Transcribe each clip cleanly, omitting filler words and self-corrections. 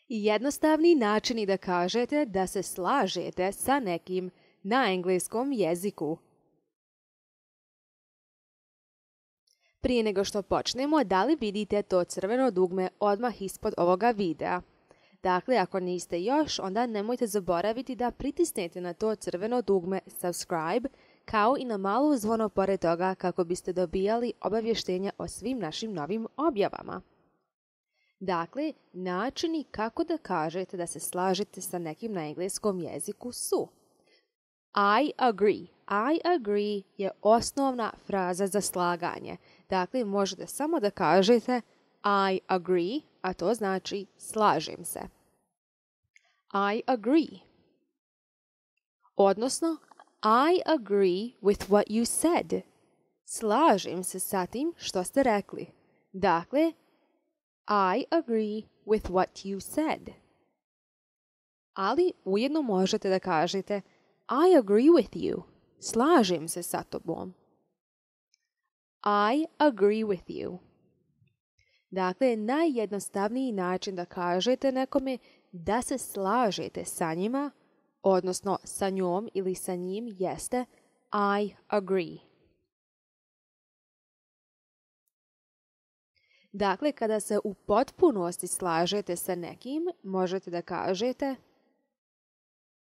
Jednostavni načini da kažete da se slažete sa nekim na engleskom jeziku. Prije nego što počnemo, da li vidite to crveno dugme odmah ispod ovoga videa? Dakle, ako niste još, onda nemojte zaboraviti da pritisnete na to crveno dugme subscribe, kao i na malo zvono pored toga kako biste dobijali obavještenja o svim našim novim objavama. Dakle, načini kako da kažete da se slažete sa nekim na engleskom jeziku su: I agree. I agree je osnovna fraza za slaganje. Dakle, možete samo da kažete I agree, a to znači slažem se. I agree. Odnosno, I agree with what you said. Slažem se sa tim što ste rekli. Dakle, I agree with what you said. Ali ujedno možete da kažete I agree with you. Slažem se sa tobom. I agree with you. Dakle, najjednostavniji način da kažete nekome da se slažete sa njima, odnosno sa njom ili sa njim, jeste I agree. Dakle, kada se u potpunosti slažete sa nekim, možete da kažete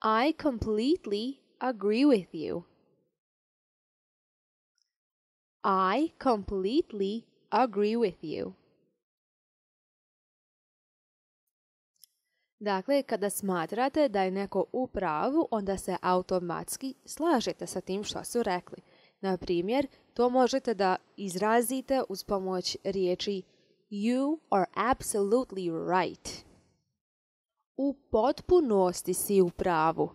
I completely agree with you. I completely agree with you. Dakle, kada smatrate da je neko u pravu, onda se automatski slažete sa tim što su rekli. Na primjer, to možete da izrazite uz pomoć riječi You are absolutely right. U potpunosti si u pravu.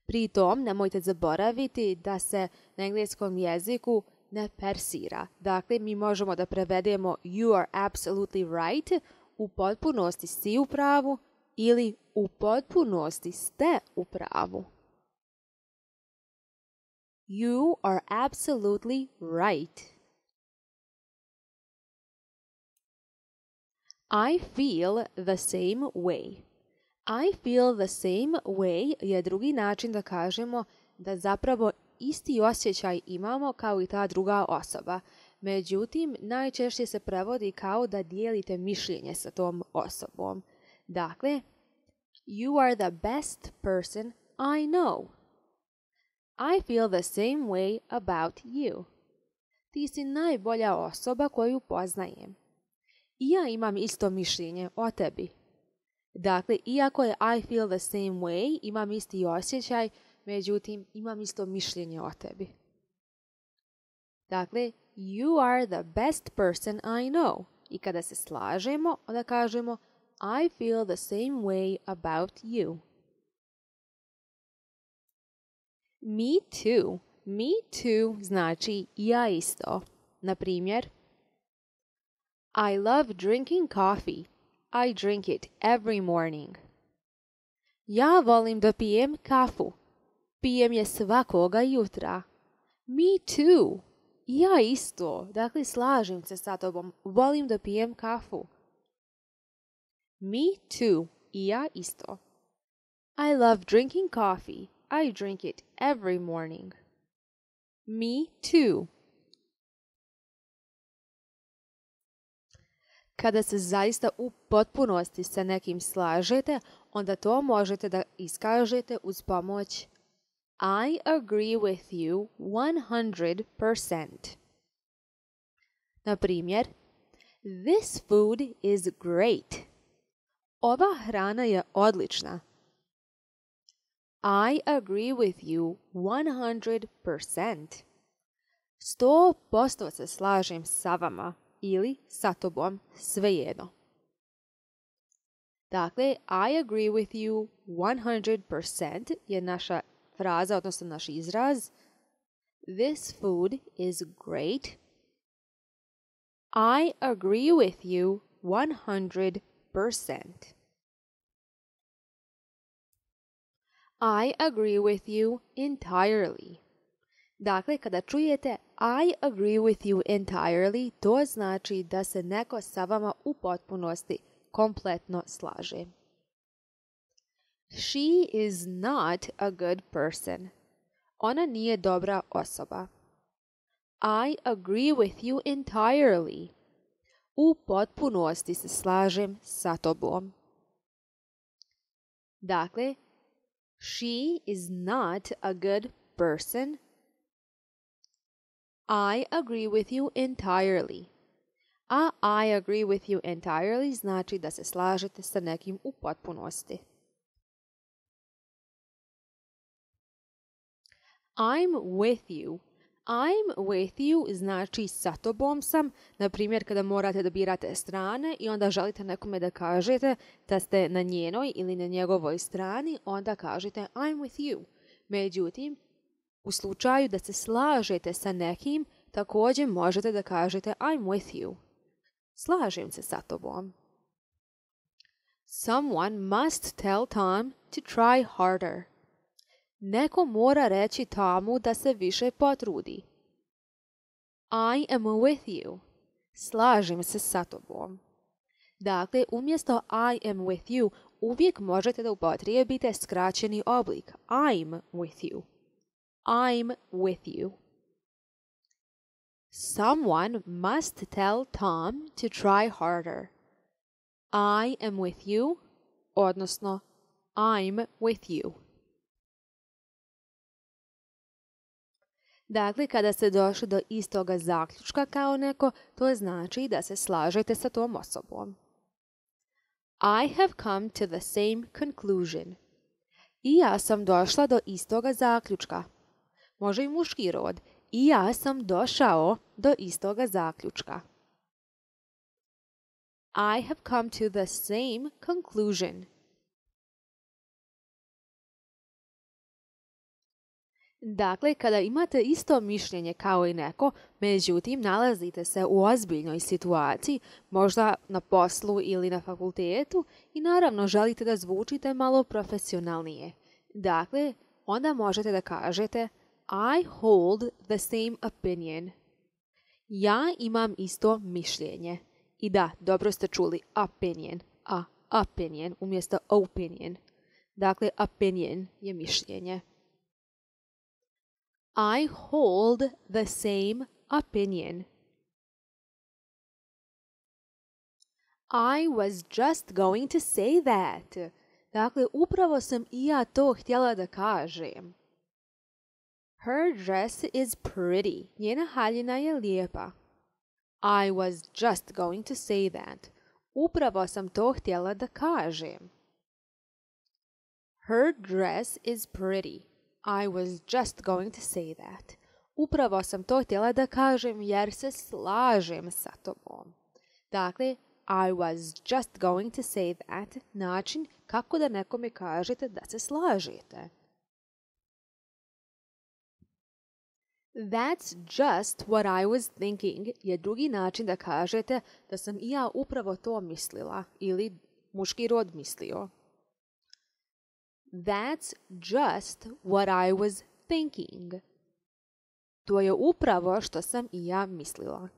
Pri tom nemojte zaboraviti da se na engleskom jeziku ne persira. Dakle, mi možemo da prevedemo You are absolutely right, u potpunosti si u pravu, ili u potpunosti ste u pravu. You are absolutely right. I feel the same way. I feel the same way je drugi način da kažemo da zapravo isti osjećaj imamo kao i ta druga osoba. Međutim, najčešće se prevodi kao da dijelite mišljenje sa tom osobom. Dakle, You are the best person I know. I feel the same way about you. Ti si najbolja osoba koju poznajem. I ja imam isto mišljenje o tebi. Dakle, iako je I feel the same way, imam isti osjećaj, međutim, imam isto mišljenje o tebi. Dakle, You are the best person I know. I kada se slažemo, onda kažemo I feel the same way about you. Me too. Me too znači ja isto. Na primjer, I love drinking coffee. I drink it every morning. Ja volim da pijem kafu. Pijem je svakoga jutra. Me too. Ja isto. Dakle, slažem se sa tobom. Volim da pijem kafu. Me too. I ja isto. I love drinking coffee. I drink it every morning. Me too. Kada se zaista u potpunosti sa nekim slažete, onda to možete da iskažete uz pomoć I agree with you 100%. Na primjer, This food is great. Ova hrana je odlična. I agree with you 100%. 100% se slažem sa vama ili sa tobom, svejedno. Dakle, I agree with you 100% je naša fraza, odnosno naš izraz. This food is great. I agree with you 100%. I agree with you entirely. Dakle, kada čujete I agree with you entirely, to znači da se neko sa vama u potpunosti, kompletno slaže. She is not a good person. Ona nije dobra osoba. I agree with you entirely. U potpunosti se slažem sa tobom. Dakle, she is not a good person. I agree with you entirely. A I agree with you entirely znači da se slažete sa nekim u potpunosti. I'm with you. I'm with you znači sa tobom sam. Na primjer, kada morate da birate strane i onda želite nekome da kažete da ste na njenoj ili na njegovoj strani, onda kažete I'm with you. Međutim, u slučaju da se slažete sa nekim, također možete da kažete I'm with you. Slažem se sa tobom. Someone must tell Tom to try harder. Neko mora reći Tomu da se više potrudi. I am with you. Slažem se sa tobom. Dakle, umjesto I am with you, uvijek možete da upotrijebite skraćeni oblik. I'm with you. I'm with you. Someone must tell Tom to try harder. I am with you, odnosno I'm with you. Dakle, kada ste došli do istoga zaključka kao neko, to znači da se slažete sa tom osobom. I have come to the same conclusion. I ja sam došla do istoga zaključka. Može i muški rod. I ja sam došao do istoga zaključka. I have come to the same conclusion. Dakle, kada imate isto mišljenje kao i neko, međutim nalazite se u ozbiljnoj situaciji, možda na poslu ili na fakultetu i naravno želite da zvučite malo profesionalnije. Dakle, onda možete da kažete I hold the same opinion. Ja imam isto mišljenje. I da, dobro ste čuli opinion, opinion umjesto opinion. Dakle, opinion je mišljenje. I hold the same opinion. I was just going to say that. Dakle, upravo sam i ja to htjela da kažem. Her dress is pretty. Njena haljina je lijepa. I was just going to say that. Upravo sam to htjela da kažem. Her dress is pretty. I was just going to say that. Upravo sam to htjela da kažem jer se slažem sa tobom. Dakle, I was just going to say that. Način kako da nekome kažete da se slažete. That's just what I was thinking je drugi način da kažete da sam i ja upravo to mislila ili muški rod mislio. That's just what I was thinking. To je upravo što sam i ja mislila.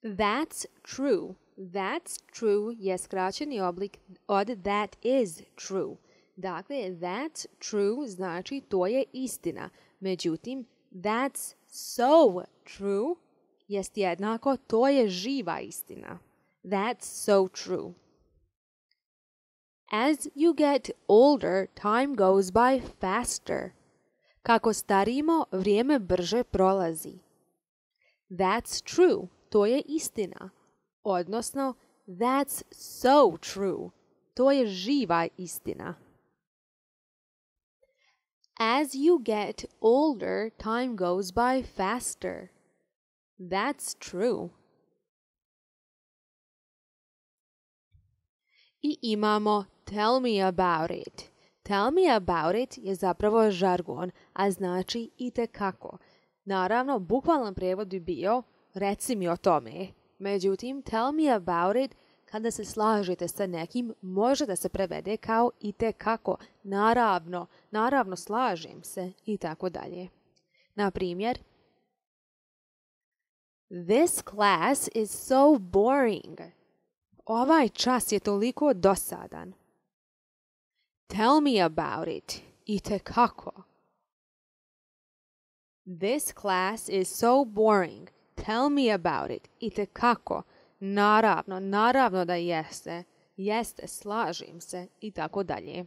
That's true. That's true je skraćeni oblik od that is true. Dakle, that's true znači to je istina. Međutim, that's so true jest jednako to je živa istina. That's so true. As you get older, time goes by faster. Kako starimo, vrijeme brže prolazi. That's true. To je istina. Odnosno, that's so true. To je živa istina. As you get older, time goes by faster. That's true. I imamo tell me about it. Tell me about it je zapravo žargon, a znači itekako. Naravno, bukvalan prijevod bi bio reci mi o tome. Međutim, tell me about it kada se slažete sa nekim može da se prevede kao itekako, naravno slažem se i tako dalje. Na primjer, This class is so boring. Ovaj čas je toliko dosadan. Tell me about it. Itekako. This class is so boring. Tell me about it. Itekako. Naravno da jeste. Jeste, slažem se i tako dalje.